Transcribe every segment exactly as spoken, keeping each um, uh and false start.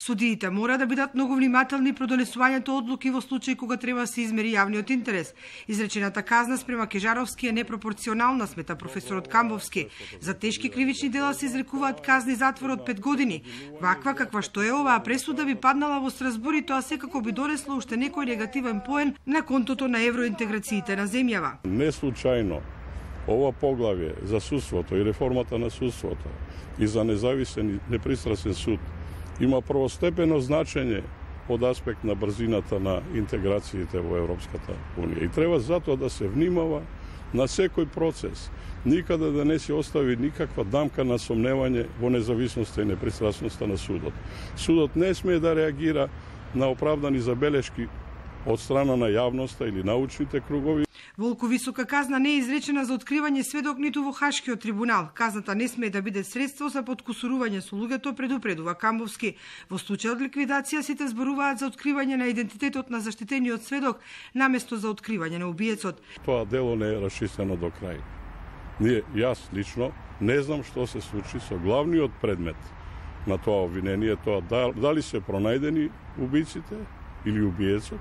Судиите мора да бидат многу внимателни при донесувањето одлуки во случај кога треба да се измери јавниот интерес. Изречената казна спрема Кежаровски е непропорционална, смета професорот Камбовски. За тешки кривични дела се изрекуваат казни затвор од пет години. Ваква каква што е оваа пресуда би паднала во Страсбур и тоа секако би донесло уште некој негативен поен на контото на евроинтеграциите на земјава. Не случајно ова поглавје за судството и реформата на судството и за независен и непристрасен суд има првостепено значење од аспект на брзината на интеграциите во Европската Унија. И треба затоа да се внимава на секој процес, никаде да не се остави никаква дамка на сомневање во независноста и непристрасноста на судот. Судот не смее да реагира на оправдани забелешки од страна на јавноста или научните кругови. Волку висока казна не е изречена за откривање сведок ниту во Хашкиот трибунал. Казната не смее да биде средство за подкусурување со луѓето, предупредува Камбовски. Во случај од ликвидација сите зборуваат за откривање на идентитетот на заштитениот сведок наместо за откривање на убиецот. Тоа дело не е расчистено до крај. Ние, јас лично, не знам што се случи со главниот предмет на тоа обвинение, тоа дали се пронајдени убиците или убиецот,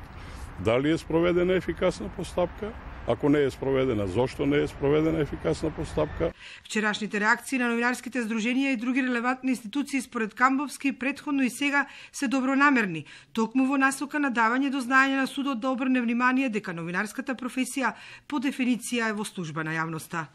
дали е спроведена ефикасна постапка. Ако не е спроведена, зошто не е спроведена ефикасна постапка? Вчерашните реакции на новинарските здруженија и други релевантни институции според Камбовски претходно и сега се добронамерни, токму во насока на давање до знаење на судот да обрне внимание дека новинарската професија по дефиниција е во служба на јавноста.